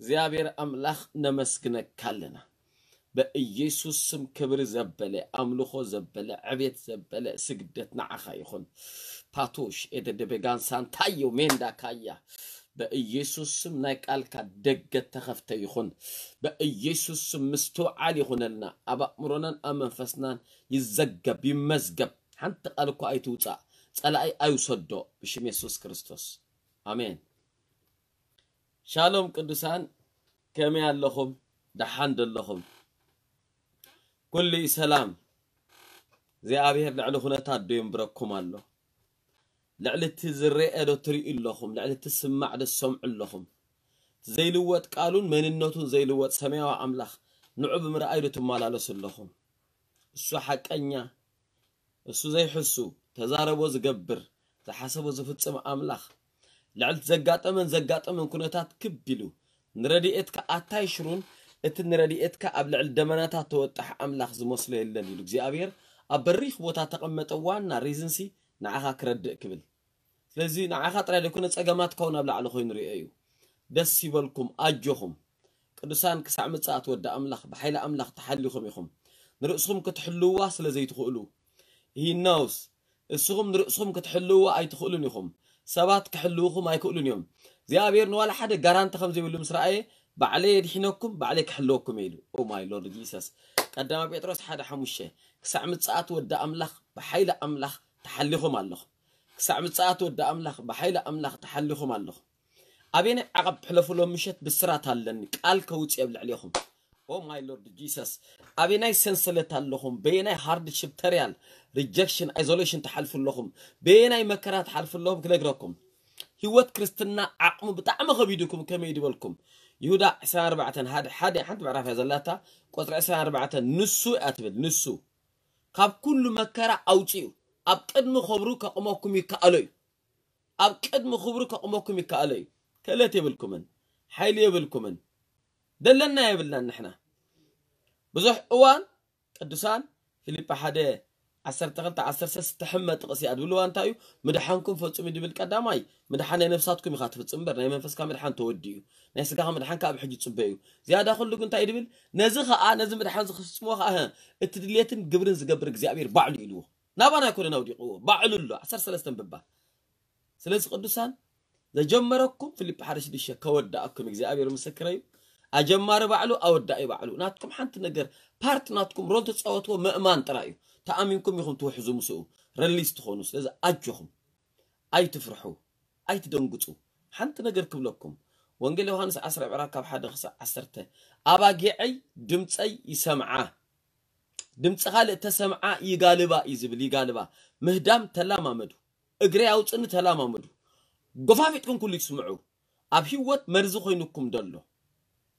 እግዚኣብሔር ኣምላኽ ነመስግነካ ኣለና። በኢየሱስ ስም ክብሪ ዘበለ፣ ኣምልኾ ዘበለ፣ ዕቤት ዘበለ ስግደት ንዓኻ ይኹን። ፓቶሽ ኤደደበጋን ሳንታዮ ሜንዳ ካያ። በኢየሱስ ስም ናይ ቃልካ ደገ ተኸፍተ ይኹን። በኢየሱስ ስም ምስትውዓል ይኹነልና፣ ኣብ ኣእምሮናን ኣብ መንፈስናን ይዘገብ ይመዝገብ። ሓንቲ ቃል እኳ ኣይትውፃእ፣ ፀላኢ ኣይውሰዶ። ብሽም የሱስ ክርስቶስ ኣሜን። ሻሎም ቅዱሳን፣ ከመይ ኣለኹም? ደሓን ደለኹም? ኩሉ እዩ ሰላም? እግዚኣብሔር ልዕሊ ኩነታት ዶ ይንብረኩም ኣሎ? ልዕሊ እቲ ዝረአ ዶ ትርእዩ ኣለኹም? ልዕሊ እቲ ዝስማዕ ዶ ትሰምዑ ኣለኹም? እቲ ዘይልወጥ ቃሉን መንነቱን ዘይልወጥ ሰማያዊ ኣምላኽ ንዑ ብምርኣይ ዶ ትመላለሱ ኣለኹም? እሱ ሓቀኛ፣ እሱ ዘይሕሱ፣ ተዛረቦ ዝገብር፣ ዝሓሰቦ ዝፍጽም ኣምላኽ፣ ልዕሊ ዘጋጠመን ዘጋጠመን ኩነታት ክብ ኢሉ ንረድኤትካ ኣታይሽሩን፣ እቲ ንረድኤትካ ኣብ ልዕሊ ደመናታት ተወጣሕ ኣምላኽ ዝመስሎ የለን ኢሉ እግዚኣብሔር ኣብ በሪኽ ቦታ ተቐመጠ። ዋና ሪዝንሲ ንዓኻ ክረድእ ክብል። ስለዚ ንዓኻ ጥራይ ዘይኮነ ጸገማትካ እውን ኣብ ላዕሊ ኮይኑ ርእዮ እዩ። ደስ ይበልኩም፣ ኣጆኹም። ቅዱሳን ክሳዕ ምጽኣት ወዲ ኣምላኽ ብሓይሊ ኣምላኽ ተሓሊኹም ኢኹም። ንርእስኹም ክትሕልውዋ ስለ ዘይትኽእሉ። He knows። እስኹም ንርእስኹም ክትሕልውዋ ኣይትኽእሉን ኢኹም። ሰባት ክሕልውኹም ኣይክእሉን እዮም። እግዚኣብሔር ንዋላ ሓደ ጋራንቲ ከም ዘይብሉ ምስ ረኣየ፣ ባዕለይ የድሒነኩም፣ ባዕለይ ክሕልወኩም እየ ኢሉ። Oh my Lord Jesus። ቀዳማ ጴጥሮስ ሓደ ሓሙሽተ፣ ክሳዕ ምጽኣት ወዲ ኣምላኽ ብሓይሊ ኣምላኽ ተሓሊኹም ኣለኹም። ክሳዕ ምጽኣት ወዲ ኣምላኽ ብሓይሊ ኣምላኽ ተሓሊኹም ኣለኹም። ኣበየናይ ዓቐብ ሕለፉ ሎም ምሸት ብስራት ኣለኒ፣ ቃል ከውጽእ ኣብ ልዕሌኹም። Oh my Lord Jesus። ኣበየናይ ሰንሰለት ኣለኹም፣ በየናይ ሃርድሽፕ፣ ተርያል፣ ሪጀክሽን፣ ኣይዞሌሽን ትሓልፉ ኣለኹም፣ በየናይ መከራ ትሓልፉ ኣለኹም ክነግረኩም። ህይወት ክርስትና ዓቕሙ ብጣዕሚ ከቢድኩም ከመይ ድበልኩም። ይሁዳ ዕስራን ኣርባዕተን ሓደ ሓደ ሓንቲ ምዕራፍ እያ ዘላታ፣ ቁፅሪ ዕስራን ኣርባዕተን ንሱ እያ ትብል፣ ንሱ ካብ ኩሉ መከራ ኣውፅኡ ኣብ ቅድሚ ክብሩ ከቕመኩም ይከኣሎ እዩ። ኣብ ቅድሚ ክብሩ ከቕመኩም ይከኣሎ እዩ። ክእለት የብልኩምን፣ ሓይሊ የብልኩምን፣ ደለና የብልናን ንሕና። ብዙሕ እዋን ቅዱሳን ፊልጳ ሓደ ዓሰርተ ክልተ ዓሰርተ ሰለስተ ትሕመ ጥቕሲ እያ ድብልዋ እንታይ እዩ? ምድሓንኩም ፈጽሙ ድብል ቀዳማይ ምድሓን ናይ ነፍሳትኩም ኢኻ ትፍጽም እምበር ናይ መንፈስካ ምድሓን ተወዲኡ እዩ። ናይ ስጋኻ ምድሓን ካብ ሕጂ ጽበ እዩ። ዝያዳ ኩሉ ግን እንታይ ድብል? ነዚ ኸኣ ነዚ ምድሓን ዝፍጽሞ ኸኣ እቲ ድሌትን ግብርን ዝገብር እግዚኣብሔር ባዕሉ ኢልዎ። ናባና ኣይኮነን ኣውዲቕዎ፣ ባዕሉ ኣሎ። ዓሰርተ ሰለስተ ንብባ። ስለዚ ቅዱሳን ዘጀመረኩም ፊልፕ ሓደ ሽዱሽተ ከወዳእኩም እግዚኣብሔር ምስክረይ እዩ። ኣጀማሪ ባዕሉ ኣወዳኢ ባዕሉ። ናትኩም ሓንቲ ነገር ፓርት ናትኩም ሮል ተጻወትዎ ምእማን ጥራይ እዩ። ተኣሚንኩም ኢኹም ትውሕዙ ምስኡ ረሊስ ትኾኑ። ስለዚ ኣጆኹም ኣይትፍርሑ፣ ኣይትደንግጹ። ሓንቲ ነገር ክብለኩም ወንጌል ዮሃንስ ዓስራ ዕብራ ካብ ሓደ ክሳዕ ዓሰርተ ኣባጊዐይ ድምፀይ ይሰምዓ ድምፂ ካልእ ተሰምዓ ይጋልባ እዩ ዝብል። ይጋልባ ምህዳም ተላማመዱ። እግረይ ኣውፅእኒ ተላማመዱ። ጎፋፊጥኩም ኩሉ ይስምዑ። ኣብ ህይወት መርዚ ኮይኑኩም ደሎ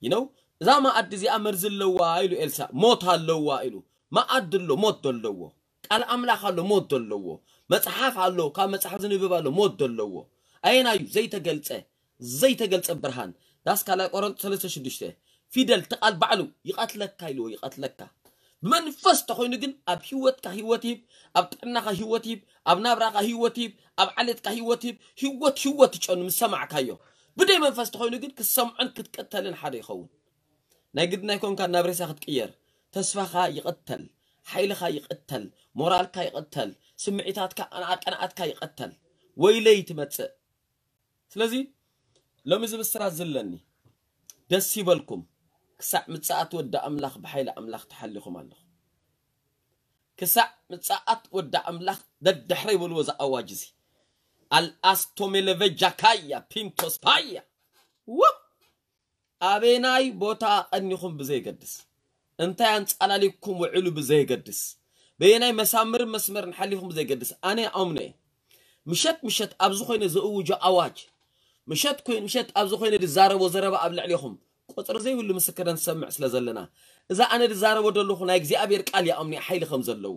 ይነው እዛ መኣዲ እዚኣ መርዚ ኣለዋ ኢሉ ኤልሳ ሞት ኣለዋ ኢሉ መኣዲ ኣሎ ሞት ዘለዎ ቃል ኣምላኽ ኣሎ ሞት ዘለዎ መፅሓፍ ኣሎ ካብ መፅሓፍ ዝንብብ ኣሎ ሞት ዘለዎ ኣየናዩ ዘይተገልፀ ዘይተገልፀ ብርሃን ዳስ ካልኣይ ቆሮንጦስ ሰለስተ ሽዱሽተ ፊደል ትቃል ባዕሉ ይቐትለካ ኢልዎ ይቐትለካ ብመንፈስ ተኾይኑ ግን ኣብ ህይወትካ ህይወት ይህብ ኣብ ጥዕናኻ ህይወት ይህብ ኣብ ናብራኻ ህይወት ይህብ ኣብ ዓሌትካ ህይወት ይህብ ህይወት ህይወት ትጨኑ ምስ ሰማዕካዮ ብደይ መንፈስ ተኾይኑ ግን ክትሰምዖን ክትቀተልን ሓደ ይኸውን ናይ ግድና ይኮንካ ናብ ሬሳ ክትቅየር ተስፋኻ ይቐተል ሓይልኻ ይቐተል ሞራልካ ይቐተል ስምዒታትካ ኣናኣቀናኣትካ ይቐተል ወይለይ ትመፅእ ስለዚ ሎሚ እዚ ብስራት ዝለኒ ደስ ይበልኩም ክሳዕ ምጽኣት ወዲ ኣምላኽ ብሓይሊ ኣምላኽ ተሓሊኹም ኣለኹም ክሳዕ ምጽኣት ወዲ ኣምላኽ ደድሕረይ በልዎ እዚ ኣዋጅ እዚ ኣልኣስቶሜለቨጃካያ ፒንቶስፓያ ወ ኣበናይ ቦታ ቀኒኹም ብዘይገድስ እንታይ ኣንጻላሊኩም ውዕሉ ብዘይገድስ በየናይ መሳምርን መስመርን ሓሊኹም ብዘይገድስ ኣነ ኣምኖ እየ ምሸት ምሸት ኣብዚ ኮይነ ዘእውጆ ኣዋጅ ምሸት ኮይን ምሸት ኣብዚ ኮይነ ዝዛረቦ ዘረባ ኣብ ልዕሌኹም ቁፅሪ ዘይብሉ ምስክርን ሰምዕ ስለ ዘለና እዛ ኣነ ዝዛረቦ ዘለኹ ናይ እግዚኣብሔር ቃል ይኣምኑ ሓይሊ ከም ዘለዎ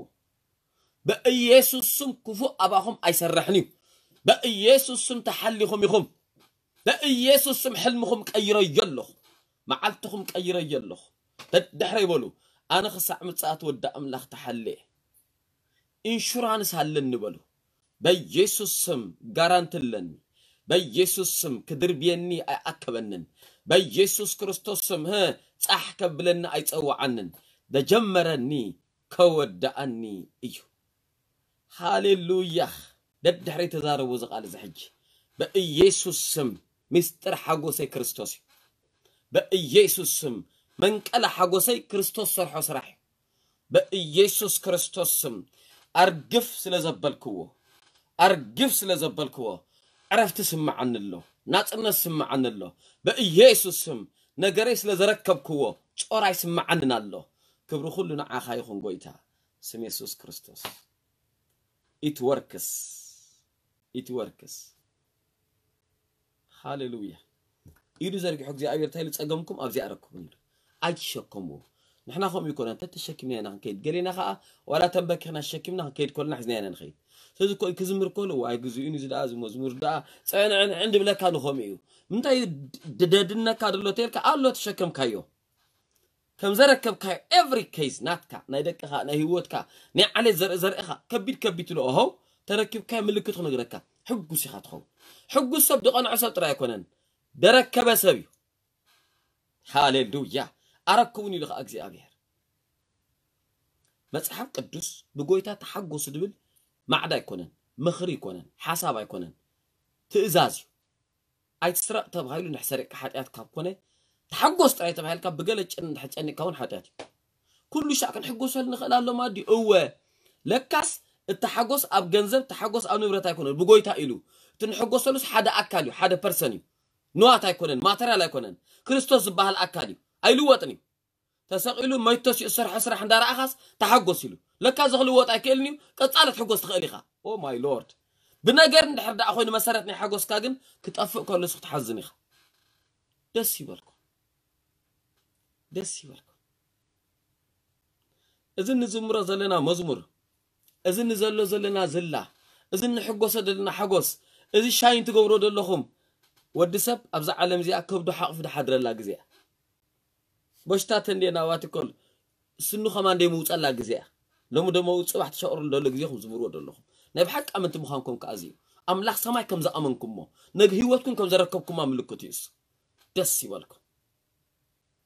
በኢየሱስ ስም ክፉእ ኣባኹም ኣይሰርሕን እዩ በኢየሱስ ስም ተሓሊኹም ኢኹም በኢየሱስ ስም ሕልምኹም ቀይረዮ ኣለኹ መዓልትኹም ቀይረዮ ኣለኹ ደድሕረይ በሉ ኣነ ክሳዕ ምጽኣት ወዲ ኣምላኽ ተሓልየ ኢንሹራንስ ኣለኒ በሉ በኢየሱስ ስም ጋራንቲ ኣለኒ በኢየሱስ ስም ክድርብየኒ ኣይኣከበንን። በኢየሱስ ክርስቶስ ስም ህ ጻሕ ከብለኒ ኣይጸውዓንን። ደጀመረኒ ከወዳኣኒ እዩ። ሃሌሉያ። ደድሕሪ ተዛረቡ እዚ ቃል እዚ ሕጂ። በኢየሱስ ስም ምስጢር ሓጎሰይ ክርስቶስ እዩ። በኢየሱስ ስም መንቀለ ሓጎሰይ ክርስቶስ ሰርሖ ስራሕ እዩ። በኢየሱስ ክርስቶስ ስም ኣርግፍ ስለ ዘበልክዎ፣ ኣርግፍ ስለ ዘበልክዎ ዕረፍቲ ስምዓኒ ኣሎ፣ ናጽነት ስምዓኒ ኣሎ። በኢየሱስ ስም ነገረይ ስለ ዘረከብክዎ ጾራ ይስምዓንን ኣሎ። ክብሪ ኩሉ ንዓኻ ይኹን ጎይታ፣ ስም የሱስ ክርስቶስ። It works. It works. ሃሌሉያ። ኢዱ ዘርጊሑ እግዚኣብሔር እንታይ ኢሉ? ጸገምኩም ኣብዚኣ ኣረክቡኒ ኢሉ። ኣይትሸከምዎ። ንሕና ከምኡ ይኮነ፣ እንተ ተሸኪምና ኢና ክንከይድ። ገሌና ከኣ ዋላ ተንበኪኽና ተሸኪምና ክንከይድ ከለና ሒዝና ኢና ንኸይድ። ስለዚ እኮ ክዝምር ከሎ፣ ዋይ፣ ግዜኡ እዩ፣ እዚ ደኣ፣ እዚ መዝሙር ደኣ፣ ጸንዕንዕን ድብለካ ንኸምኡ እዩ። ምንታይ ድ-፣ ደድነካ ደሎ ተልካ ኣሎ ተሸከምካዮ። ከም ዘረከብካዮ every case ናትካ፣ ናይ ደቅኻ፣ ናይ ህይወትካ፣ ናይ ዓሌት ዘርኢ ዘርእኻ፣ ከቢድ ከቢድ ትልኦ ሆው፣ ተረኪብካዮ ምልክት ክነግረካ። ሕጉስ ኢኻ ትኸውን። ሕጉስ ሰብ ድቐንዖ ሰብ ጥራይ ኣይኮነን፣ ደረከበ ሰብ እዩ። ሃሌሉያ። ኣረክቡኒ ኢሉ ኸዓ እግዚኣብሔር። መጽሓፍ ቅዱስ ብጎይታ ተሓጎሱ ድብል ማዕዳ ኣይኮነን፣ ምኽሪ ኣይኮነን፣ ሓሳብ ኣይኮነን፣ ትእዛዝ እዩ። ኣይትስረቕ ተባሂሉ እንድሕር ሰሪቕካ ሓጢኣት ካብ ኮነ፣ ተሓጎስ ጥራይ ተባሂልካ ብገለ ጭን እንድሕር ጨኒቕካ እውን ሓጢኣት እዩ። ኩሉ ሻዕ ክንሕጎሰሉ ንኽእል ኣሎ ማዲ? እወ። ለካስ እቲ ሓጎስ ኣብ ገንዘብ፣ ተሓጎስ ኣብ ንብረት ኣይኮነን፣ ብጎይታ ኢሉ። እቲ ንሕጎሰሉስ ሓደ ኣካል እዩ፣ ሓደ ፐርሰን እዩ። ንዋት ኣይኮነን፣ ማተርያል ኣይኮነን። ክርስቶስ ዝበሃል ኣካል እዩ፣ ኣይልወጥን እዩ። ተሰቒሉ መይቶ ሲኡ ዝሰርሖ ስራሕ እንዳረኣኻስ ተሓጎስ ኢሉ። ለካ እዚ ክልወጥ ኣይክእልን እዩ፣ ቀጻሊ ትሕጎስ ትኽእል ኢኻ። ኦ ማይ ሎርድ። ብነገር እንድሕር ደኣ ኮይኑ መሰረት ናይ ሓጎስካ ግን ክጠፍእ ከሎ ንስኻ ትሓዝን ኢኻ። ደስ ይበልኩም። ደስ ይበልኩም። እዚ ንዝምሮ ዘለና መዝሙር፣ እዚ ንዘሎ ዘለና ዝላ፣ እዚ ንሕጎሶ ዘለና ሓጎስ፣ እዚ ሻይን ትገብሮ ዘለኹም፣ ወዲ ሰብ ኣብዛ ዓለም እዚኣ ከብዱ ሓቕፉ ድሓድረላ ግዜ እያ። በሽታ ተንዴ ናባቲ ኮል ስኑ ከማን ደይ ምውጸላ ግዜ እያ። ሎሚ ደሞ ጽባሕ ትሸቕሩ ደሎ ግዜኹም ዝምርዎ ደለኹም። ናይ ብሓቂ ኣመንቲ ምዃንኩም ከኣ እዚ እዩ። ኣምላኽ ሰማይ ከም ዝኣመንኩሞ፣ ነግ ህይወትኩም ከም ዘረከብኩማ ምልክት እዩ እሱ። ደስ ይበልኩም።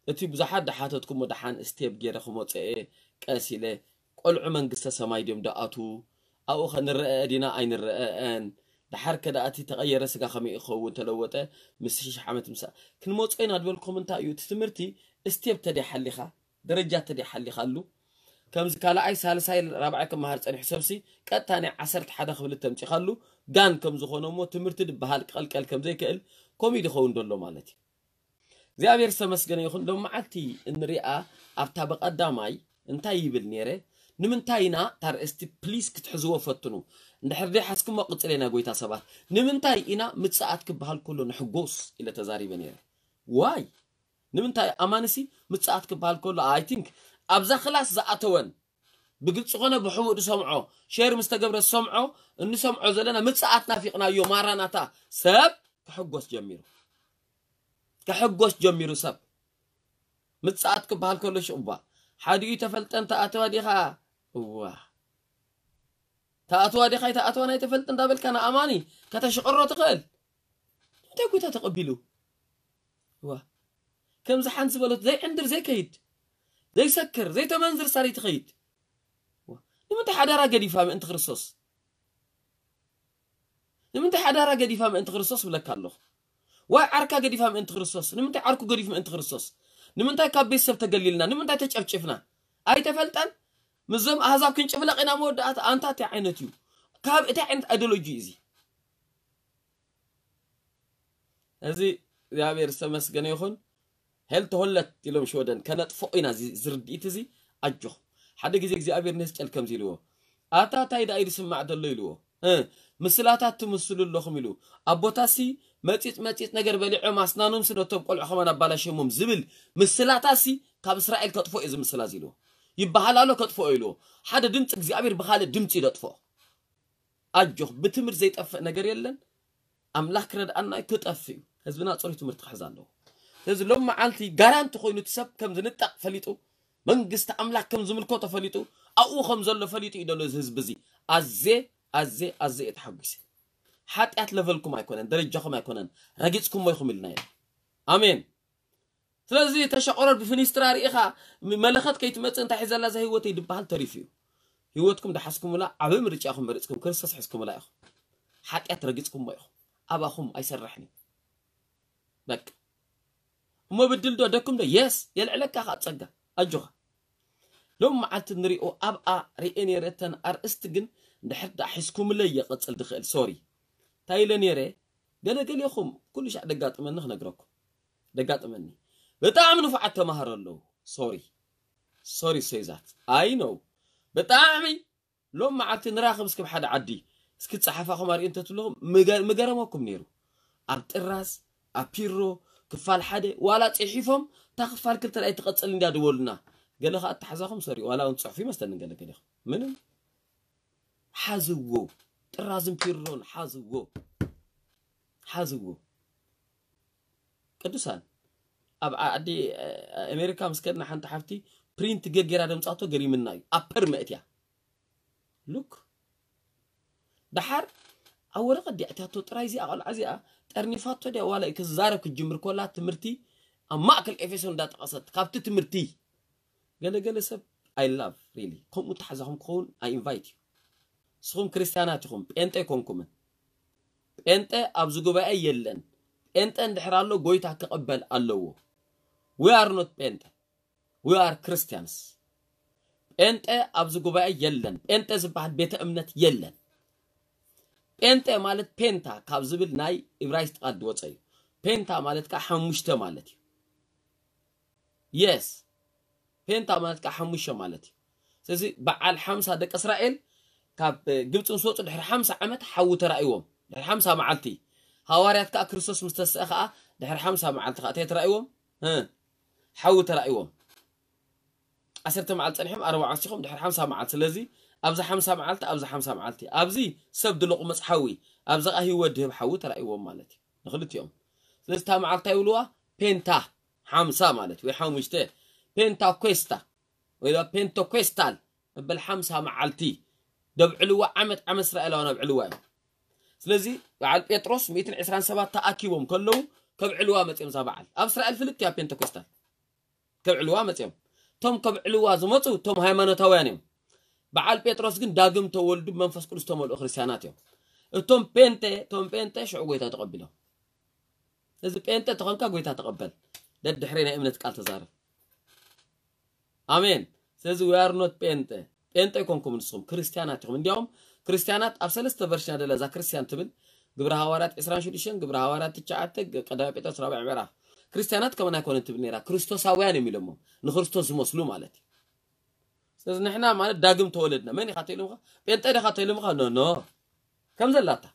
እቲ ብዙሓት ድሓተትኩሞ ደሓን ስቴፕ ገይረ ክመጽእ እየ፣ ቀስ ኢለ፣ ቆልዑ መንግስተ ሰማይ ድዮም ድኣትዉ? ኣብኡ ኸ ንረአ ዲና ኣይንረአን? ደሓር ከ ደኣ እቲ ተቐየረ ስጋ ከመይ ክኸውን ተለወጠ? ምስ ሽሕ ዓመት ምሳእ ክንመጾ ኢና ድበልኩም እንታይ እዩ? እቲ ትምህርቲ ስቴፕ ተደይ ሓሊኻ፣ ደረጃ ተደይ ሓሊኻሉ፣ ከምዚ ካልኣይ፣ ሳልሳይ፣ ራብዓይ ክመሃር ጸኒሑ ሰብሲ ቀጥታ ናይ ዓሰርተ ሓደ ክፍሊ ተምጺኻሉ፣ ጋን ከም ዝኾነ እሞ ትምህርቲ ድበሃል ክቐልቀል ከም ዘይክእል ከምኡ እዩ ድኸውን ደሎ ማለት እዩ። እግዚኣብሔር ዝተመስገነ ይኹን። ሎም መዓልቲ እንሪኣ ኣብታ ብቐዳማይ እንታይ ይብል ነይረ? ንምንታይ ኢና እታ ርእስቲ ፕሊስ ክትሕዝዎ ፈትኑ። እንድሕር ደይ ሓዝኩሞ ቅጽል ኢና ጎይታ ሰባት። ንምንታይ ኢና ምጽኣት ክበሃል ከሎ ንሕጎስ ኢለ ተዛሪበ ነይረ። ዋይ? ንምንታይ ኣማንሲ ምጽኣት ክበሃል ከሎ፣ ኣይ ቲንክ ኣብዛ ክላስ ዝኣተወን ብግልጺ ኮነ ብሕቡእ ዝሰምዖ፣ ሼር ምስ ተገብረ ዝሰምዖ፣ እንሰምዖ ዘለና ምጽኣት ናፊቕናዮ ማራናታ ሰብ ክሕጎስ ጀሚሩ። ክሕጎስ ጀሚሩ ሰብ። ምጽኣት ክበሃል ከሎ ሽቕባ ሓዲኡ ተፈልጠን ተኣተዋ ዲኻ? እዋ። ተኣተዋ ዲኻ ይተኣተዋ ናይ ተፈልጥ እንዳበልካ ንኣማኒ ከተሽቕሮ ትኽእል። እንታይ ጎይታ ተቐቢሉ? እዋ። ከምዚ ሓንቲ ዝበለት ዘይዕንድር ዘይከይድ፣ ዘይሰክር፣ ዘይተመንዝር ሳሪ ትኸይድ። እዋ። ንምንታይ ሓዳራ ገዲፋ ምእንቲ ክርስቶስ? ንምንታይ ሓዳራ ገዲፋ ምእንቲ ክርስቶስ ብለካ ኣለኹ? ዋይ ዓርካ ገዲፋ ምእንቲ ክርስቶስ? ንምንታይ ዓርኩ ገዲፍ ምእንቲ ክርስቶስ? ንምንታይ ካብ ቤተሰብ ተገሊልና? ንምንታይ ተጨፍጭፍና? ኣይተፈልጠን? ምስዞም ኣህዛብ ክንጭፍለቕ ኢና መወዳእታ። ኣንታ እንታይ ዓይነት እዩ? ካብ እንታይ ዓይነት ኣይዲዮሎጂ እዩ እዚ? እዚ እግዚኣብሔር ዝተመስገነ ይኹን። ሄልተ ሆለት ኢሎም ሽወደን ከነጥፍኦ ኢና። እዚ፣ እዚ ርድኢት እዚ ኣጆኹም። ሓደ ግዜ እግዚኣብሔር ነስጨል ከምዚ ኢልዎ፣ ኣታ እንታይ ደኣ እዩ ዝስማዕ ዘሎ ኢልዎ። እ፣ ምስላታት ትምስሉ ኣለኹም ኢሉ። ኣቦታሲ መጺጽ መጺጽ ነገር በሊዖም ኣስናኖምሲ ነቶም ቆልዑ ከማን ኣባላሸሞም ዝብል ምስላታሲ ካብ እስራኤል ከጥፍኦ እዩ እዚ ምስላ እዚ ኢልዎ። ይበሃል ኣሎ ከጥፍኦ ኢልዎ። ሓደ ድምፂ እግዚኣብሔር ብኻልእ ድምፂ እዩ ዘጥፍኦ። ኣጆኽ፣ ብትምህርቲ ዘይጠፍእ ነገር የለን። ኣምላኽ ክረድኣና እዩ፣ ክጠፍእ እዩ። ህዝብና ጽሩይ ትምህርቲ ክሕዝ ኣለዎ። ስለዚ ሎም መዓልቲ ጋራንቲ ኮይኑ እቲ ሰብ ከም ዝንጠቕ ፈሊጡ፣ መንግስቲ ኣምላኽ ከም ዝምልኮ ተፈሊጡ፣ ኣብኡ ከም ዘሎ ፈሊጡ እዩ ዘሎ እዚ ህዝቢ እዚ። ኣዜ፣ ኣዜ፣ ኣዜ እየ ተሓጒሰ። ሓጢኣት ለቨልኩም ኣይኮነን፣ ደረጃኹም ኣይኮነን፣ ረጊጽኩሞ ኢኹም ኢልና ኢና። ኣሜን። ስለዚ ተሸቆረር ብፍኒስትራ ርኢኻ፣ ም-፣ መለኸት ከይትመጽእ እንታይ ሒዘላ እዛ ህይወተይ ድበሃል ተሪፉ እዩ። ህይወትኩም ድሓዝኩምላ ዓቢ ምርጫ ኢኹም መሪጽኩም፣ ክርስቶስ ሒዝኩምላ ኢኹም። ሓጢኣት ረጊጽኩሞ ኢኹም። ኣባኹም ኣይሰርሕን እዩ። በቃ። እሞ ብድል ዶ ደኩም ዶ? የስ፣ የልዕለካ ኸኣ ጸጋ። ኣጆኻ። ሎም መዓልቲ ንሪኦ ኣብኣ ርኤ ነይረ እተን ኣርእስቲ ግን እንድሕር ደኣ ሒዝኩምለይ እየ ቀጽል ድኽእል። ሶሪ። እንታይ ኢለ ነይረ? ገለ ገሌኹም ኩሉ ሻዕ ደጋጥመኒ ክነግረኩም። ደጋጥመኒ። ብጣዕሚ ንፉዓት ተማሃሮ ኣለዉ። ሶሪ። ሶሪ ሶይ ዛት። ኣይ ኖው። ብጣዕሚ ሎም መዓልቲ ንራኸብ እስኪ ኣብ ሓደ ዓዲ። እስኪ ጸሓፋኹም ኣርእዩ እንተትብልኹም ምገ-፣ ምገረመኩም ነይሩ። ኣብ ጥራዝ፣ ኣብ ፒሮ፣ ክፋል ሓደ፣ ዋላ ጽሒፎም፣ እታ ክፋል ክልተ ደኣ ትቐጽል እንድያ ድበሉና። ገለ ኸኣ ኣተሓዛኹም ሶሪ፣ ዋላ እውን ጽሑፍ ይመስለኒ ገለ ገሌኹም። ምንም። ሓዝዎ። ጥራዝን ፒሮን ሓዝዎ። ሓዝዎ። ቅዱሳን፣ ኣብ ዓዲ፣ እ፣ ኣሜሪካ ምስ ከድና ሓንቲ ሓፍቲ ፕሪንት ገጌራ ደምጻቶ ገሪምና እዩ። ኣብ ፐር መእትያ። ሉክ። ደሓር ኣብ ወረቐት ድያ እትያቶ ጥራይ እዚኣ ቆልዓ እዚኣ ጠርኒፋቶ ድያ ዋላ ክዛረብ ክትጅምር ኮላ ትምህርቲ ኣብ ማእከል ኤፌሶን እንዳጠቐሰት ካብቲ ትምህርቲ ገለ ገለ ሰብ I love really ከምኡ ተሓዛኹም ክኸውን I invite you። ንስኹም ክርስትያናት ኢኹም፣ ጴንጠ ኣይኮንኩምን። ጴንጠ ኣብዚ ጉባኤ የለን። ጴንጠ እንድሕር ኣሎ ጎይታ ክቕበል ኣለዎ። We are not ጴንጠ። We are Christians። ጴንጠ ኣብዚ ጉባኤ የለን። ጴንጠ ዝበሃል ቤተ እምነት የለን። ጴንጠ ማለት ፔንታ ካብ ዝብል ናይ እብራይስጥ ቃል ዝወፀ እዩ። ፔንታ ማለት ከዓ ሓሙሽተ ማለት እዩ። የስ፣ ፔንታ ማለት ከዓ ሓሙሽተ ማለት እዩ። ስለዚ በዓል ሓምሳ ደቂ እስራኤል ካብ ግብፂ ምስ ወፁ ድሕሪ ሓምሳ ዓመት ሓዊ ተራእይዎም። ድሕሪ ሓምሳ መዓልቲ ሃዋርያት ከዓ ክርስቶስ ምስ ተስአ ከዓ ድሕሪ ሓምሳ መዓልቲ ከዓ እንታይ ተራእይዎም? እ፣ ሓዊ ተራእይዎም። ዓሰርተ መዓልቲ ፀኒሖም ኣርብዓ ወሲኾም ድሕሪ ሓምሳ መዓልቲ። ስለዚ ኣብዚ ሓምሳ መዓልቲ፣ ኣብዚ ሓምሳ መዓልቲ፣ ኣብዚ ሰብ ድልቑ መፅሓዊ፣ ኣብዚ ከዓ ህይወት ድህብ ሓዊ ተራእይዎም ማለት እዩ ንክልቲኦም። ስለዚ እታ መዓልቲ ይብልዋ ፔንታ ሓምሳ ማለት ወይ ሓሙሽተ፣ ፔንታኮስታ ወይ ድማ ፔንቶኮስታል መበል ሓምሳ መዓልቲ ደብዕልዋ ዓመት ዓመት እስራኤላውያን ኣብዕልዋ እዮም። ስለዚ በዓል ጴጥሮስ ሚእትን ዕስራን ሰባት ተኣኪቦም ከለዉ ከብዕልዋ መፅኦም እዛ በዓል ኣብ እስራኤል ፍልጥ እያ ፔንቶኮስታል ከብዕልዋ መፅኦም። እቶም ከብዕልዋ ዝመፁ እቶም ሃይማኖታውያን እዮም። በዓል ጴጥሮስ ግን ዳግም ተወልዱ መንፈስ ቅዱስ ተመልኡ ክርስትያናት እዮም። እቶም ጴንጤ፣ እቶም ጴንጤ ሽዑ ጎይታ ተቐቢሎም። እዚ ጴንጤ ተኾንካ ጎይታ ተቐበል። ደድሕረይ ናይ እምነት ቃል ተዛረብ። ኣሜን። ስለዚ we are not ጴንጤ። ጴንጤ ኣይኮንኩም ንስኹም ክርስትያናት ኢኹም። እንዲያውም ክርስትያናት ኣብ ሰለስተ ቨርሽን ኣደላ እዛ ክርስትያን ትብል ግብረ ሃዋርያት ዕስራን ሽዱሽተን፣ ግብረ ሃዋርያት ትሽዓተ፣ ግ-፣ ቀዳማይ ጴጥሮስ ራብዕ ምዕራፍ። ክርስትያናት ከመን ኣይኮነን ትብል ነይራ። ክርስቶሳውያን እዮም ኢሎሞም። ንክርስቶስ ዝመስሉ ማለት እዩ። ስለዚ ንሕና ማለት ዳግም ተወለድና። መን ኢኻ ተኢሎምኻ? ጴንጤ ዲኻ ተኢሎምኻ? ኖ፣ ኖ። ከም ዘላታ።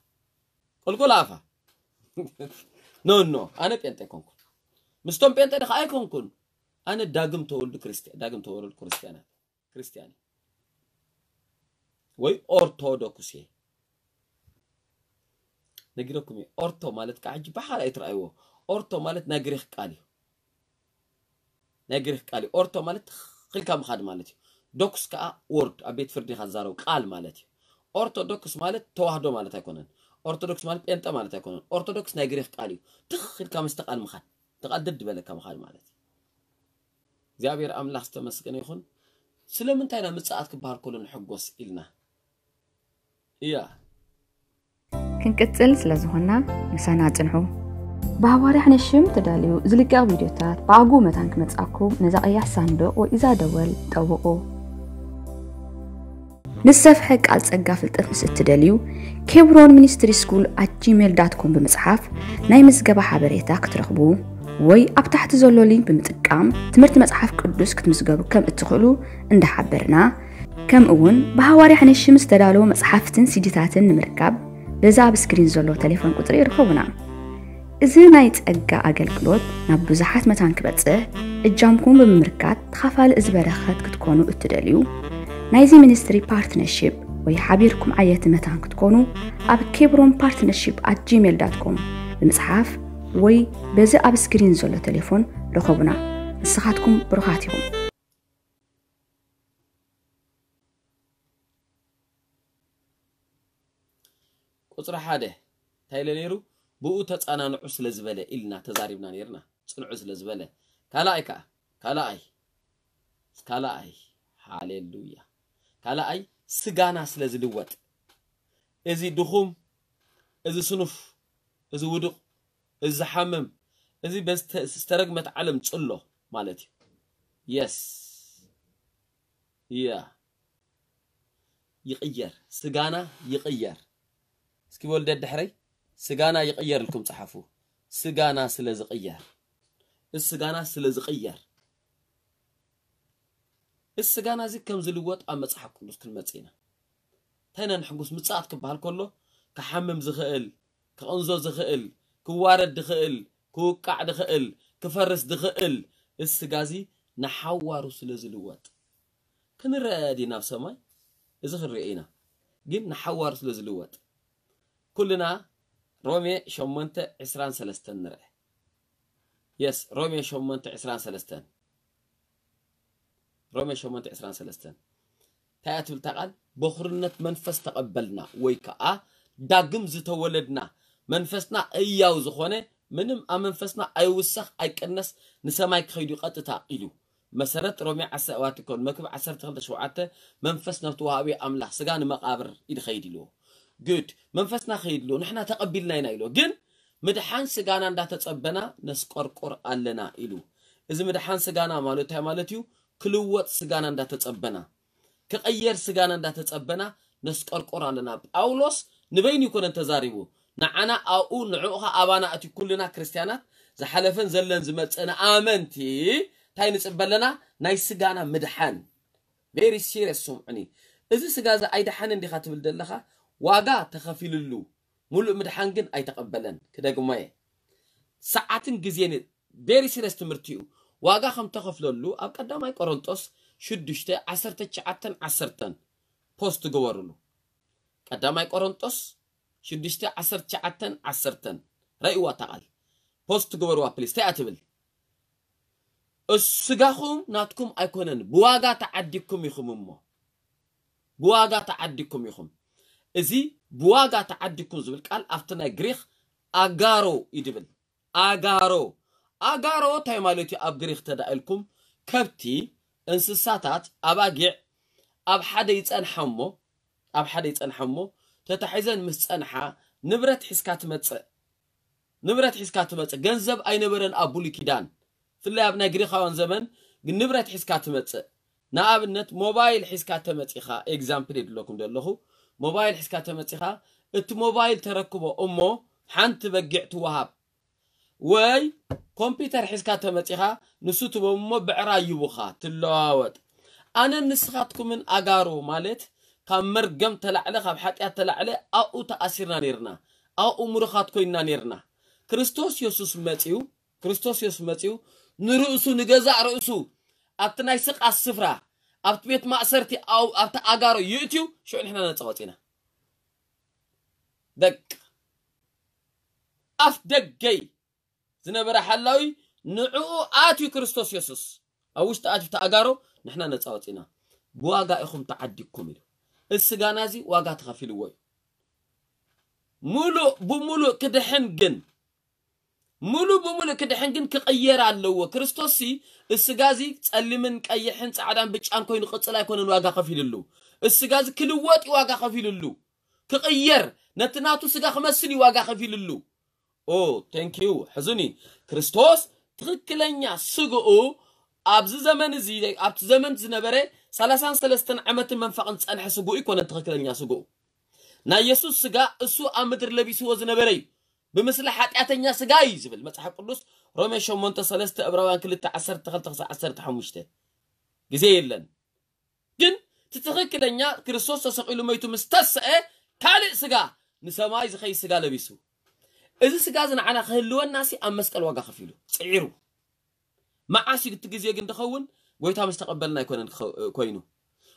ቁልቁል ኣፋ። ኖ፣ ኖ። ኣነ ጴንጤ ኣይኮንኩን። ምስቶም ጴንጤ ዲኻ ኣይኮንኩን። ኣነ ዳግም ተወልዱ ክርስትያ-፣ ዳግም ተወለድኩ ክርስትያናት። ክርስትያን እየ። ወይ ኦርቶዶክስ እየ። ነጊረኩም እየ። ኦርቶ ማለት ከዓ ሕጂ ብሓራ ኣይትረኣይዎ። ኦርቶ ማለት ናይ ግሪክ ቃል እዩ። ናይ ግሪክ ቃል እዩ። ኦርቶ ማለት ትኽ ኢልካ ምኻድ ማለት እዩ። ዶክስ ከዓ ወርድ፣ ኣብ ቤት ፍርዲ ኢኻ ትዛረብ ቃል ማለት እዩ። ኦርቶዶክስ ማለት ተዋህዶ ማለት ኣይኮነን። ኦርቶዶክስ ማለት ጴንጠ ማለት ኣይኮነን። ኦርቶዶክስ ናይ ግሪክ ቃል እዩ። ትኽ ኢልካ ምስቲ ቃል ምኻድ። እቲ ቃል ደድ በለካ ምኻድ ማለት እዩ። እግዚኣብሔር ኣምላኽ ዝተመስገነ ይኹን። ስለምንታይ ኢና ምጽኣት ክበሃል ከሎ ንሕጎስ ኢልና? እያ። ክንቅጽል ስለ ዝኾንና ምሳና ጽንሑ። ብሃዋርያ ሕነ ሽም ተዳልዩ ዝልቀቕ ቪድዮታት ብኣግኡ መታን ክመጽኣኩም ነዛ ቀያሕ ሳንዱቕ ወይ እዛ ደወል ጠውቑ። ንዝሰፍሐ ቃል ጸጋ ፍልጠት ምስ እትደልዩ፣ ኬብሮን ሚኒስትሪ ስኩል ኣት ጂሜል ዳት ኮም ብምጽሓፍ ናይ ምዝገባ ሓበሬታ ክትረኽቡ ወይ ኣብ ታሕቲ ዘሎ ሊንክ ብምጥቃም ትምህርቲ መጽሓፍ ቅዱስ ክትምዝገቡ ከም እትኽእሉ እንዳሓበርና፣ ከምኡ እውን ብሃዋርያ ሕነ ሽም ዝተዳለዉ መጽሓፍትን ሲዲታትን ንምርካብ በዚ ኣብ ስክሪን ዘሎ ቴሌፎን ቁጽሪ ይርከቡና። እዚ ናይ ጸጋ ኣገልግሎት ናብ ብዙሓት መታን ክበጽሕ እጃምኩም ብምምርካት ተኻፋሊ እዚ በረኸት ክትኮኑ እትደልዩ፣ ናይዚ ሚኒስትሪ ፓርትነርሺፕ ወይ ሓቢርኩም ዓየቲ መታን ክትኮኑ ኣብ ኬብሮን ፓርትነርሺፕ ኣት ጂሜል ዳት ኮም ብምጽሓፍ ወይ በዚ ኣብ ስክሪን ዘሎ ቴሌፎን ርኸቡና። ንስኻትኩም ብሩኻት ኢኹም። ቁጽሪ ሓደ፣ እንታይ ኢለ ነይሩ? ብኡ ተጻናንዑ ስለ ዝበለ ኢልና ተዛሪብና ነይርና። ጽንዑ ስለ ዝበለ። ካልኣይ ከኣ፣ ካልኣይ፣ ካልኣይ፣ ሃሌሉያ። ካልኣይ፣ ስጋና ስለ ዝልወጥ። እዚ ድኹም፣ እዚ ስኑፍ፣ እዚ ውዱቕ፣ እዚ ዝሓምም፣ እዚ በዝተ-፣ ዝተረግመት ዓለም ጽሎ ማለት እዩ። የስ። ያ። ይቕየር። ስጋና ይቕየር። እስኪ በሉ ደድሕረይ፣ ስጋና ይቕየር ኢልኩም ጸሓፉ። ስጋና ስለ ዝቕየር። እዚ ስጋና ስለ ዝቕየር። እዚ ስጋና እዚ ከም ዝልወጥ ኣብ መጽሓፍ ቅዱስ ክንመጽእ ኢና። እንታይ ኢና ንሕጉስ? ምጽኣት ክበሃል ከሎ፣ ክሓምም ዝኽእል፣ ክቕንዞ ዝኽእል፣ ክዋረድ ዝኽእል፣ ክውቃዕ ዝኽእል፣ ክፈርስ ዝኽእል፣ እዚ ስጋ እዚ ንሓዋሩ ስለ ዝልወጥ። ክንረአ ዲና ኣብ ሰማይ? እዚ ክንሪኦ ኢና። ግን ንሓዋሩ ስለ ዝልወጥ። ኩልና ሮሜ ሸሞንተ ዕስራን ሰለስተን ንርአ። የስ፣ ሮሜ ሸሞንተ ዕስራን ሰለስተን። ሮሜ ሸሞንተ ዕስራን ሰለስተን። እንታይ እያ ትብል እታ ቃል? በኹርነት መንፈስ ተቐበልና ወይ ከኣ ዳግም ዝተወለድና መንፈስና እያው ዝኾነ ምንም ኣብ መንፈስና ኣይውሰኽ ኣይቀነስ ንሰማይ ክኸይዱ ቀጥታ ኢሉ። መሰረት ሮሜ ዓሰርተ ኣዋቲ ኮን መክብ ዓሰርተ ክልተ ሸውዓተ መንፈስ ነቲ ወሃቢ ኣምላኽ ስጋ ንመቃብር ይድኸይድ ኢልዎ። ግድ መንፈስና ኸይድልዎ ንሕና ተቐቢልና ኢና ኢልዎ። ግን ምድሓን ስጋና እንዳተጸበና ነስቆርቆር ኣለና ኢሉ። እዚ ምድሓን ስጋና ማለት እንታይ ማለት እዩ? ክልወጥ ስጋና እንዳተጸበና፣ ክቐየር ስጋና እንዳተጸበና ነስቆርቆር ኣለና። ጳውሎስ ንበይኑ ይኮነን ተዛሪቡ። ንዓና ኣብኡ ንዕኡ ኸኣ ኣባና እቲ ኩልና ክርስትያናት ዝሓለፈን ዘለን ዝመጽእን ኣመንቲ እንታይ ንጽበ ኣለና? ናይ ስጋና ምድሓን። ቬሪ ሲሪየስ ስምዑኒ። እዚ ስጋ እዚ ኣይደሓንን ዲኻ ትብል ዘለኻ? ዋጋ ተኸፊልሉ። ሙሉእ ምድሓን ግን ኣይተቐበለን። ክደግሞ እየ። ሰዓትን ግዜን ቬሪ ሲሪየስ ትምህርቲ እዩ። ዋጋ ከም ተኸፍለሉ ኣብ ቀዳማይ ቆሮንጦስ ሽዱሽተ ዓሰርተ ትሽዓተን ዓሰርተን ፖስት ግበሩሉ። ቀዳማይ ቆሮንጦስ ሽዱሽተ ዓሰርተ ትሽዓተን ዓሰርተን ረእይዋ እታ ቃል። ፖስት ግበሩዋ ፕሊስ። እንታይ እያ ትብል? እሱ ስጋኹም ናትኩም ኣይኮነን፣ ብዋጋ ተዓዲግኩም ኢኹም እሞ። ብዋጋ ተዓዲግኩም ኢኹም። እዚ ብዋጋ ተዓዲግኩም ዝብል ቃል ኣብቲ ናይ ግሪኽ ኣጋሮ እዩ ድብል። ኣጋሮ። ኣጋሮ እንታይ ማለት እዩ? ኣብ ግሪኽ ተዳኢልኩም ከብቲ፣ እንስሳታት፣ ኣባጊዕ ኣብ ሓደ ይጸንሓ እሞ፣ ኣብ ሓደ ይጸንሓ እሞ፣ ተታሒዘን ምስ ጸንሓ ንብረት ሒዝካ ትመጽእ። ንብረት ሒዝካ ትመጽእ። ገንዘብ ኣይነበረን ኣብ ብሉይ ኪዳን። ፍላይ ኣብ ናይ ግሪኻውያን ዘመን ግን ንብረት ሒዝካ ትመጽእ። ንኣብነት ሞባይል ሒዝካ ተመጺኻ፣ ኤግዛምፕል የድለኩም ዘለኹ። ሞባይል ሒዝካ ተመጺኻ፣ እቲ ሞባይል ተረክቦ እሞ ሓንቲ በጊዕ ትወሃብ። ወይ ኮምፒውተር ሒዝካ ተመጺኻ፣ ንሱ ትቦም እሞ ብዕራይ ይቡኻ፣ ትለዋወጥ። ኣነን ንስኻትኩምን ኣጋሮ ማለት ካብ መርገም ተላዕለ፣ ካብ ሓጢኣት ተላዕለ ኣብኡ ተኣሲርና ነይርና። ኣብኡ ምሩኻት ኮይንና ነይርና። ክርስቶስ የሱስ መጺኡ፣ ክርስቶስ የሱስ መጺኡ ንርእሱ፣ ንገዛእ ርእሱ ኣብቲ ናይ ስቓስ ስፍራ፣ ኣብቲ ቤት ማእሰርቲ፣ ኣብ-፣ ኣብቲ ኣጋሮ ይእትዩ፣ ሽዑ ንሕና ነጻ ወጺና። በቃ። ኣፍ ደገይ ዝነበረ ሓላዊ ንዕኡ ኣትዩ ክርስቶስ የሱስ ኣብ ውሽጢ ኣትዩ ተኣጋሮ፣ ንሕና ነጻ ወጺና። ብዋጋ ኢኹም ተዓዲግኩም ኢሉ። እዚ ስጋና እዚ ዋጋ ተኸፊልዎ እዩ። ሙሉእ ብሙሉእ ክድሕን ግን፣ ሙሉእ ብሙሉእ ክድሕን ግን ክቕየር ኣለዎ። ክርስቶስ ሲ፣ እዚ ስጋ እዚ ጸሊምን ቀይሕን ጻዕዳን ብጫን ኮይኑ ቅጽል ኣይኮነን ዋጋ ከፊልሉ። እዚ ስጋ እዚ ክልወጥ እዩ ዋጋ ከፊልሉ። ክቕየር፣ ነቲ ናቱ ስጋ ክመስል እዩ ዋጋ ከፊልሉ። ኦ፣ ቴንክ ዩ። ሕዙኒ። ክርስቶስ ትኽክለኛ ስግኡ ኣብዚ ዘመን እዚ፣ ኣብቲ ዘመን ዝነበረ ሰላሳን ሰለስተን ዓመትን መንፈቕን ዝጸንሐ ስግኡ ኣይኮነን ትኽክለኛ ስግኡ። ናይ የሱስ ስጋ እሱ ኣብ ምድሪ ለቢስዎ ዝነበረ እዩ። ብምስሊ ሓጢኣተኛ ስጋ እዩ ዝብል መጽሓፍ ቅዱስ ሮሜ ሸሞንተ ሰለስተ፣ ዕብራውያን ክልተ ዓሰርተ ክልተ ክሳዕ ዓሰርተ ሓሙሽተ። ግዜ የለን። ግን እቲ ትኽክለኛ ክርስቶስ ተሰቒሉ መይቱ ምስ ተስአ ካልእ ስጋ፣ ንሰማይ ዝኸይድ ስጋ ለቢሱ። እዚ ስጋ እዚ ንዓና ክህልወና ሲ ኣብ መስቀል ዋጋ ከፊሉ፣ ጽዒሩ። መዓስ እዩ እቲ ግዜ ግን ድኸውን? ጎይታ ምስ ተቐበልና ኣይኮነን ክኸ-፣ ኮይኑ።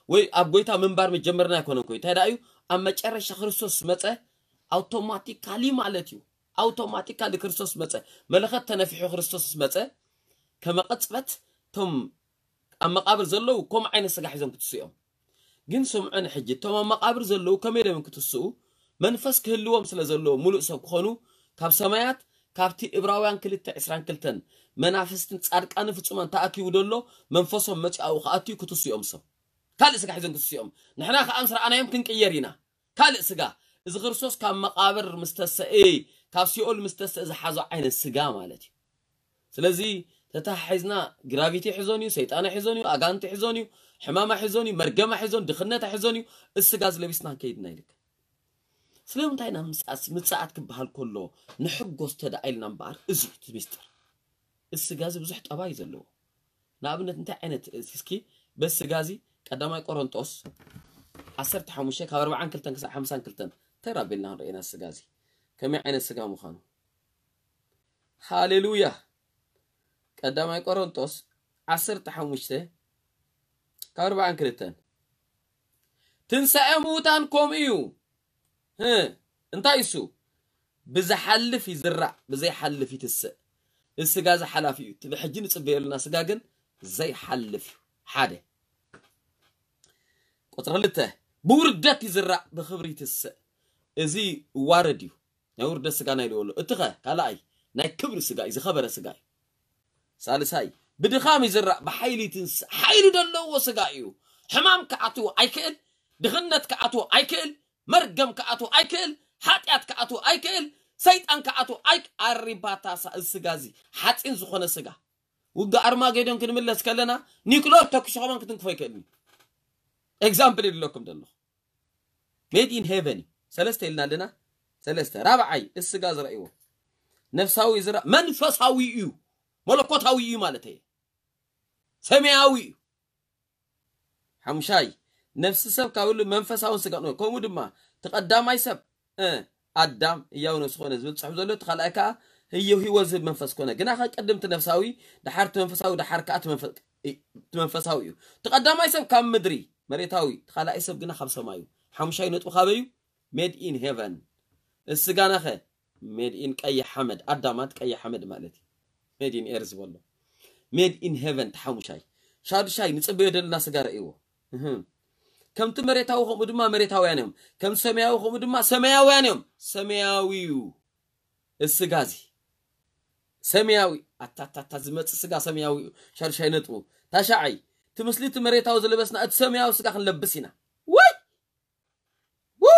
ወይ ኣብ ጎይታ ምንባር መጀመርና ኣይኮነን ኮይኑ። እንታይ ደኣ እዩ? ኣብ መጨረሻ ክርስቶስ መጸ፣ ኣውቶማቲካሊ ማለት እዩ። ኣውቶማቲካሊ ክርስቶስ መጸ። መለኸት ተነፊሑ ክርስቶስ መጸ፣ ከመ ቅጽበት እቶም ኣብ መቃብር ዘለዉ ከምኡ ዓይነት ስጋ ሒዞም ክትስኡ እዮም። ግን ስምዑኒ ሕጂ፣ እቶም ኣብ መቃብር ዘለዉ ከመይ ኢሎም እዮም ክትስኡ? መንፈስ ክህልዎም ስለ ዘለዎ፣ ሙሉእ ሰብ ክኾኑ፣ ካብ ሰማያት፣ ካብቲ እብራውያን ክልተ ዕስራን ክልተን፣ መናፍስትን ጻድቃንን ፍጹማን ተኣኪቡ ደሎ፣ መንፈሶም መጺኣኡ ክኣትዩ ክትስኦም ሰብ። ካልእ ስጋ ሒዞም ክትስኦም። ንሕና ከኣ ምስ ረኣናዮም ክንቅየር ኢና። ካልእ ስጋ። እዚ ክርስቶስ ካብ መቓብር ምስ ተሰኤ፣ ካብ ሲኦል ምስ ተሰኤ ዝሓዞ ዓይነት ስጋ ማለት እዩ። ስለዚ ተተሓሒዝና ግራቪቲ ሒዞን እዩ፣ ሰይጣና ሒዞን እዩ፣ ኣጋንቲ ሒዞን እዩ፣ ሕማማ ሒዞን እዩ፣ መርገማ ሒዞን፣ ድኽነታ ሒዞን እዩ። እዚ ስጋ እዚ ለቢስና ክንከይድ ኢና ኢልካ። ስለምንታይ ኢና ምጽኣት፣ ምጽኣት ክበሃል ከሎ ንሕጎስ ተደኣ ኢልና እምበኣር፣ እዚ እዩ እቲ ሚስጥር። እዚ ስጋ እዚ ብዙሕ ጠባይ እዩ ዘለዎ። ንኣብነት እንታይ ዓይነት፣ እስኪ በዚ ስጋ እዚ ቀዳማይ ቆሮንጦስ ዓሰርተ ሓሙሽተ ካብ ኣርብዓን ክልተን ክሳብ ሓምሳን ክልተን ተራቢልና ክንርእየና ስጋ እዚ ከመይ ዓይነት ስጋ ምዃኑ። ሃሌሉያ። ቀዳማይ ቆሮንጦስ ዓሰርተ ሓሙሽተ ካብ ኣርብዓን ክልተን። ትንሳኤ ምዉታን ከምኡ እዩ። ህ፣ እንታይ እሱ? ብዝሓልፍ ይዝራእ፣ ብዘይሓልፍ ይትስእ። እዚ ስጋ እዚ ሓላፊ እዩ። እቲ ብሕጂ ንጽበየሉና ስጋ ግን ዘይሓልፍ እዩ። ሓደ። ቁጽሪ ክልተ፣ ብውርደት ይዝራእ፣ ብኽብሪ ይትስእ። እዚ ዋረድ እዩ። ናይ ውርደት ስጋ ናይ ልበሎ። እቲ ኸ ካልኣይ ናይ ክብሪ ስጋ እዩ፣ ዝኸበረ ስጋ እዩ። ሳልሳይ ብድኻም ይዝራእ፣ ብሓይሊ ይትንስእ። ሓይሊ ዘለዎ ስጋ እዩ። ሕማም ክኣትዎ ኣይክእል፣ ድኽነት ክኣትዎ ኣይክእል፣ መርገም ክኣትዎ ኣይክእል፣ ሓጢኣት ክኣትዎ ኣይክእል፣ ሰይጣን ክኣትዎ ኣይ ኣሪባታሳ። እዚ ስጋ እዚ ሓፂን ዝኾነ ስጋ። ውግእ ኣርማጌዶን ክንምለስ ከለና ኒክሎር ተኩሱ ከማን ክትንክፎ ኣይክእልን እዩ። ኤግዛምፕል ይድለኩም ዘለኹ። ሜድ ኢን ሄቨን እዩ። ሰለስተ ኢልና ኣለና። ሰለስተ። ራብዓይ፣ እዚ ስጋ ዝረእይዎ ነፍሳዊ ዝራ-፣ መንፈሳዊ እዩ። መለኮታዊ እዩ ማለት እየ። ሰማያዊ እዩ። ሓሙሻይ፣ ነፍሲ ሰብ ካብ ህሉ መንፈሳውን ስጋ ነው። ከምኡ ድማ እቲ ቀዳማይ ሰብ፣ እ፣ ኣዳም ህያው ነፍሲ ኮነ ዝብል ጽሑፍ ዘሎ፣ እቲ ካልኣይ ከኣ ህየው ህይወት ዝህብ መንፈስ ኮነ። ግና ከቅድም እቲ ነፍሳዊ፣ ደሓር እቲ መንፈሳዊ፣ ደሓር ከኣ እቲ መንፈ-፣ እቲ መንፈሳዊ እዩ። እቲ ቀዳማይ ሰብ ካብ ምድሪ፣ መሬታዊ፣ እቲ ካልኣይ ሰብ ግና ካብ ሰማዩ። ሓሙሻይ ነጥቡ ካበዩ? ሜድ ኢን ሄቨን። እዚ ስጋናኸ ሜድ ኢን ቀይሕ ሓመድ፣ ኣዳማት ቀይሕ ሓመድ ማለት እዩ። ሜድ ኢን ኤር ዝበሎ። ሜድ ኢን ሄቨን ተሓሙሻይ። ሻዱሻይ ንጽበዮ ደለና ስጋ ረእይዎ። እህ። ከምቲ መሬታዊ ከምኡ ድማ መሬታውያን እዮም። ከም ሰማያዊ ከምኡ ድማ ሰማያውያን እዮም። ሰማያዊ እዩ። እዚ ስጋ እዚ ሰማያዊ። ኣታታታ ዝመጽእ ስጋ ሰማያዊ እዩ። ሻዱሻይ ነጥቡ። ታሻዓይ፣ እቲ ምስሊ እቲ መሬታዊ ዝለበስና እቲ ሰማያዊ ስጋ ክንለብስ ኢና። ወይ! ው!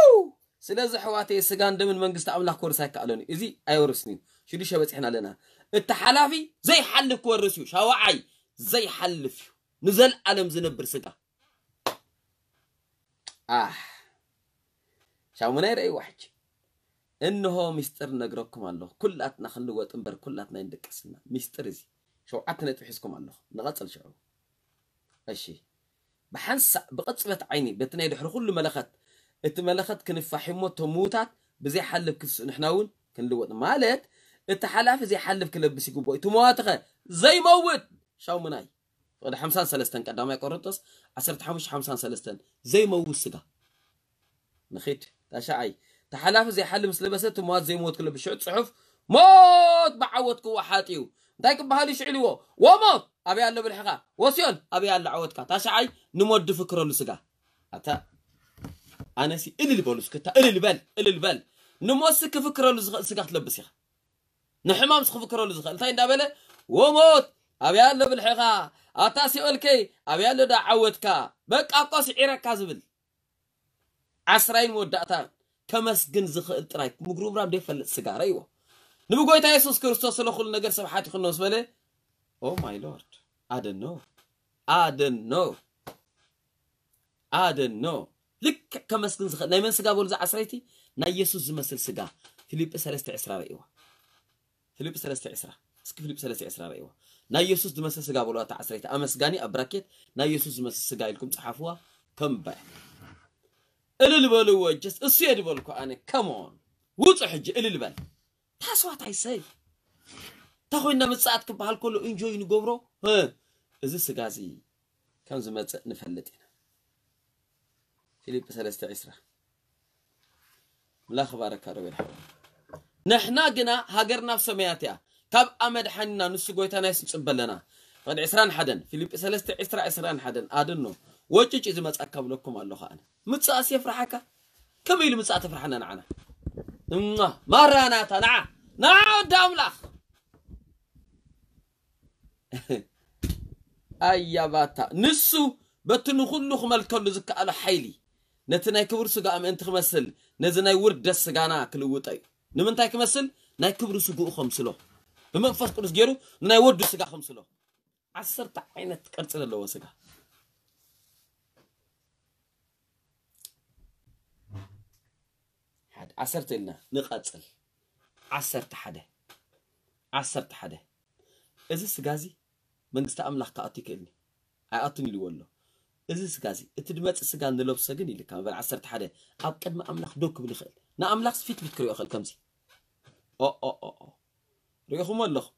ስለዚ ኣሕዋተይ ስጋን ደምን መንግስቲ ኣምላኽ ክወርስ ኣይከኣለን እዩ። እዚ ኣይወርስን እዩ። ሽዱሽተ በጺሕና ኣለና። እቲ ሓላፊ ዘይሓልፍ ክወርስ እዩ። ሻውዓይ ዘይሓልፍ እዩ። ንዘለኣለም ዝነብር ስጋ። ኣህ። ሻሙናይ ረእይዋ ሕጂ። እንሆ ሚስጥር ነግረኩም ኣለኹ። ኩላትና ክንልወጥ እምበር ኩላትና ኣይንድቅስና። ሚስጥር እዚ። ሸውዓተ ነጥቢ ሒዝኩም ኣለኹ። ንቐጽል ሽዑ። እሺ። ብሓንሳእ ብቕጽበት ዓይኒ በቲ ናይ ድሕሪ ኩሉ መለኸት፣ እቲ መለኸት ክንፋሕ እሞ እቶም ምዉታት ብዘይሓልፍ ክትስኡ ንሕና እውን ክንልወጥ። ማለት እቲ ሓላፊ ዘይሓልፍ ክለብስ ይግብኦ። እቲ መዋትኸ ዘይመውት ሻሙናይ። ፍቕዲ ሓምሳን ሰለስተን ቀዳማይ ቆሮንቶስ ዓሰርተ ሓሙሽተ ሓምሳን ሰለስተን ዘይመውት ስጋ። ንኺድ። ታሽዓይ፣ ተሓላፊ ዘይሓሊ ምስ ለበሰ እቲ ሞት ዘይሞት ክለብስ ሽዑ ጽሑፍ ሞት ብዓወት ክወሓጥ እዩ። እንታይ ክበሃል እዩ ሽዑ ኢልዎ? ወሞት ኣበይ ኣሎ ብልሕኻ? ወሲዮን ኣበይ ኣሎ ዓወትካ? ታሽዓይ ንሞት ድፍክረሉ ስጋ። ኣታ ኣነሲ እልል በሉ እስክታ እልል በል እልል በል። ንሞትሲ ክፍክረሉ ዝኽእል ስጋ ክትለብስ ኢኻ። ንሕማምሲ ክፍክረሉ ዝኽእል እንታይ እንዳበለ? ወሞት ኣበይ ኣሎ ብልሕኻ? ኣታ ሲኦልከይ ኣበይ ኣሎ ዳ ዓወትካ? በቃ እኮ ስዒረካ ዝብል። ዓስራይን መወዳእታ ከመስግን ዝኽእል ጥራይ ምጉርምራም ዘይፈልጥ ስጋ ረእይዎ። ንብጎይታ የሱስ ክርስቶስ ስለ ኩሉ ነገር ሰብ ሓቲኹ ምስ በለ፣ ኦ ማይ ሎርድ፣ ኣደኖ ኣደኖ ኣደኖ። ልክዕ ከመስግን ዝኽእል ናይ መን ስጋ በሉ? እዛ ዓስረይቲ ናይ የሱስ ዝመስል ስጋ። ፊልጲ ሰለስተ ዕስራ ረእይዋ። ፊልጲ ሰለስተ ዕስራ። እስኪ ፊልጲ ሰለስተ ዕስራ ረእይዋ። ናይ የሱስ ዝመስል ስጋ በሉ። ኣታ ዓስረይቲ ኣመስጋኒ ኣብ ብራኬት ናይ የሱስ ዝመስል ስጋ ኢልኩም ጸሓፍዋ። ከምባይ እልል በልዎ። ጀስ እሱ እየ ድበልኩ ኣነ። ከሞን ውጹ ሕጂ እልል በል። ታስዋት ኣይሰይ። እንታይ ኮይና ምጽኣት ክበሃል ከሎ ኢንጆይ ንገብሮ። እ፣ እዚ ስጋ እዚ ከም ዝመጽእ ንፈልጥ ኢና። ፊልጲ ሰለስተ ዕስራ። ኣምላኽ ባረካ ሮቤል ሓወይ። ንሕና ግና ሃገርና ኣብ ሰማያት እያ። ካብ ኣመድሓኒና ንሱ ጎይታና የስ ንጽበ ኣለና። ፍቕዲ ዕስራን ሓደን፣ ፊልጲ ሰለስተ ዕስራ ዕስራን ሓደን፣ ኣድኖ ወጭጭ ዝመጻካ ብለኩም ኣለኹ ኣነ። ምጽኣስ የፍርሓካ? ከመይ ኢሉ ምጻእ ተፍርሓና ንዓና? እማ ማራናታ፣ ንዓ፣ ንዓ ወዲ ኣምላኽ። ኣያ ባታ፣ ንሱ በቲ ንኹሉ ክመልከሉ ዝከኣሎ ሓይሊ፣ ነቲ ናይ ክብሪ ስጋ ምእንቲ ክመስል፣ ነዚ ናይ ውርደት ስጋና ክልውጦ እዩ። ንምንታይ ክመስል? ናይ ክብሪ ስግኡ ከምስሎ። ብመንፈስ ቅዱስ ገይሩ ንናይ ወዱ ስጋ ከምስሎ። ዓሰርተ ዓይነት ቅርጺ ዘለዎ ስጋ። ሓደ፣ ዓሰርተ ኢልና ንቐጽል። ዓሰርተ ሓደ። ዓሰርተ ሓደ። እዚ ስጋ እዚ መንግስቲ ኣምላኽ ክኣቱ ይክእልኒ? ኣይኣቱን ኢልዎ ኣሎ። እዚ ስጋ እዚ፣ እቲ ድመጽእ ስጋ ንለብሶ ግን ኢልካ፣ መበል ዓሰርተ ሓደ፣ ኣብ ቅድሚ ኣምላኽ ደው ክብል ይኽእል። ንኣምላኽስ ፊት ፊት ክሪኦ ይኽእል ከምዚ። ኦ፣ ኦ፣ ኦ፣ ኦ። ሪኢኹሞ ኣለኹም።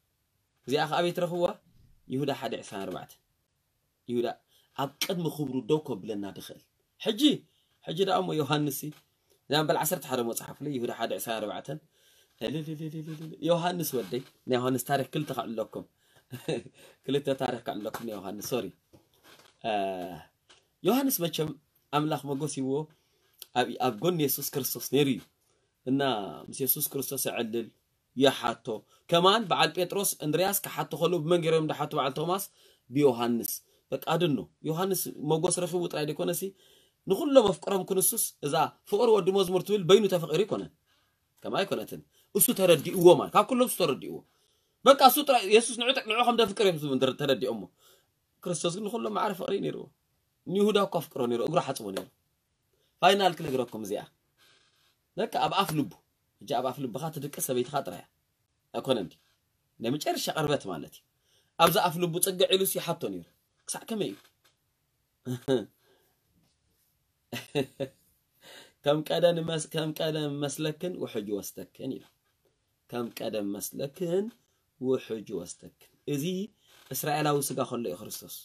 እዚኣ ከኣ ኣበይ ትረኽብዋ? ይሁዳ ሓደ ዕስራን ኣርባዕተን። ይሁዳ ኣብ ቅድሚ ክብሩ ደው ከብለና ድኽእል። ሕጂ፣ ሕጂ ደኣ እሞ ዮሃንስ ሲ፣ እዛ መበል ዓሰርተ ሓደ መጽሓፍ ላይ ይሁዳ ሓደ ዕስራን ኣርባዕተን። እልልልልልል። ዮሃንስ ወደይ፣ ናይ ዮሃንስ ታሪኽ ክልተ ከዕለኩም። ክልተ ታሪኽ ከዕለኩም ናይ ዮሃንስ፣ ሶሪ። እ፣ ዮሃንስ መቸም ኣምላኽ መጎስ ይዎ ኣብ፣ ኣብ ጎኒ የሱስ ክርስቶስ ነይሩ እዩ። እና ምስ የሱስ ክርስቶስ የዕልል፣ ይሓቶ። ከማን በዓል ጴጥሮስ፣ እንድርያስ ክሓቶ ከለዉ ብመን ገይሮም ድሓቱ በዓል ቶማስ? ብዮሃንስ። በቃ ኣድኖ። ዮሃንስ መጎስ ረኺቡ ጥራይ ደይኮነሲ፣ ንኹሎም ኣፍቅሮም ክንሱስ፣ እዛ ፍቕሪ ወዲ መዝሙር ትብል በይኑ ተፈቒሩ ኣይኮነን። ከምኣ ኣይኮነትን። እሱ ተረዲእዎ ማለት፣ ካብ ኩሎም እሱ ተረዲእዎ። በቃ እሱ ጥራይ፣ የሱስ ንዑ፣ ንዑ ከም ደፍቅር እዮም ዝብል ተረ-፣ ተረዲኦሞ። ክርስቶስ ግን ንኹሎም ማዕረ ፍቕሪ እዩ ነይርዎ። ንይሁዳ እኮ ኣፍቅሮ ነይሩ፣ እግሩ ሓጽቦ ነይሩ። ፋይናል ክነግረኩም እዚኣ። በቃ ኣብ ኣፍ ልቡ። ሕጂ ኣብ ኣፍ ልብኻ ትድቅስ ሰበይትኻ ጥራይ እያ። ኣይኮነን ድዩ? ናይ መጨረሻ ቅርበት ማለት እዩ። ኣብዚ ኣፍ ልቡ ጽግዕ ኢሉስ ይሓቶ ነይሩ። ክሳዕ ከመይ እዩ? ከም ቀደም መስ-፣ ከም ቀደም መስለክን ውሕጅ ወስተክን ኢሉ። ከም ቀደም መስለክን ውሕጅ ወስተክን። እዚ እስራኤላዊ ስጋ ከሎ እዩ ክርስቶስ።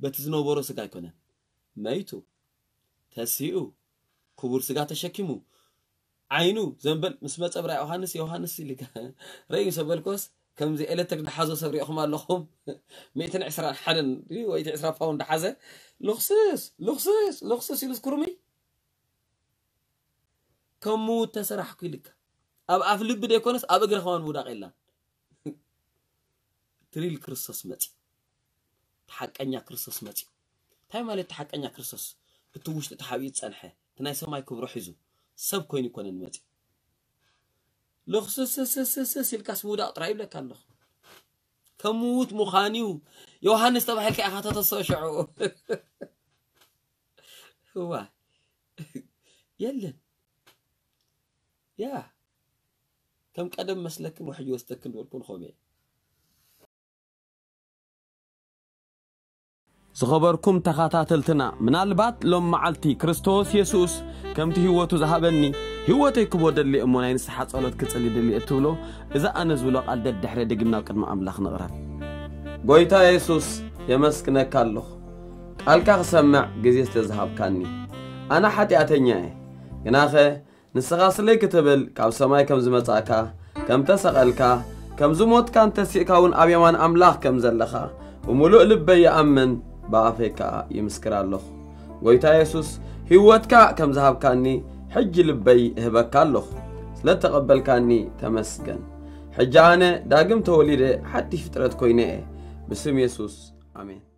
በቲ ዝነበሮ ስጋ ኣይኮነን። መይቱ፣ ተሲኡ፣ ክቡር ስጋ ተሸኪሙ፣ ዓይኑ ዘንበል ምስ መጸ ብራ ዮሃንስ፣ ዮሃንስ ኢሉ ረዩ ምስ በልኮስ፣ ከምዚ ኤሌክትሪክ ድሓዞ ሰብ ሪእኹም ኣለኹም። ሚእትን ዕስራን ሓደን ድዩ ወይ ዕስራ ፓውንድ ድሓዘ፣ ልኽስስ፣ ልኽስስ፣ ልኽስስ ኢሉ ዝኩርምይ። ከም ምዉት ተሰራሕኩ ኢልካ። ኣብ ኣፍ ልቢ ደይኮነስ ኣብ እግሪ ከማን ምውዳቕ የላን። ትሪል ክርስቶስ መጺኡ። እቲ ሓቀኛ ክርስቶስ መጺኡ። እንታይ ማለት እቲ ሓቀኛ ክርስቶስ? እቲ ውሽጢ ተሓቢኡ ዝጸንሐ፣ እቲ ናይ ሰማይ ክብሩ ሒዙ፣ ሰብ ኮይኑ ኣይኮነን መጺኡ። ልኽስስስስስ ኢልካስ ምውዳቕ ጥራይ ይብለካ ኣለኹ። ከም ምዉት ምዃን እዩ። ዮሃንስ ተባሂልካ ኢኻ ተተስኦ ሽዑ። እዋ። የለን። ያ። ከም ቀደም መስለክን ውሕጅ ወስተክን ዝበልኩ ንኸም እየ። ዝኸበርኩም ተኸታተልትና፣ ምናልባት ሎም መዓልቲ ክርስቶስ የሱስ ከምቲ ህይወቱ ዝሃበኒ ህይወተይ ክቦ ደሊ እሞ ናይ ንስሓ ጸሎት ክጽሊ ደሊ እትብሎ፣ እዚ ኣነ ዝብሎ ቃል ደድሕረ ድግምና ኣብ ቅድሚ ኣምላኽ ንቕረብ። ጎይታ የሱስ፣ የመስግነካ ኣለኹ፣ ቃልካ ክሰምዕ ግዜ ስለ ዝሃብካኒ። ኣነ ሓጢኣተኛ እየ፣ ግናኸ ንስኻ ስለይ ክትብል ካብ ሰማይ ከም ዝመጻእካ፣ ከም ተሰቐልካ፣ ከም ዝሞትካን ተሲእካ እውን ኣብ የማን ኣምላኽ ከም ዘለኻ ብምሉእ ልበይ ይኣምን፣ ብኣፈይ ከኣ ይምስክር ኣለኹ። ጎይታ የሱስ፣ ህይወትካ ከም ዝሃብካኒ ሕጂ ልበይ እህበካ ኣለኹ። ስለ እተቐበልካኒ ተመስገን። ሕጂ ኣነ ዳግም ተወሊደ ሓድሽ ፍጥረት ኮይነ እየ። ብስም የሱስ፣ ኣሜን።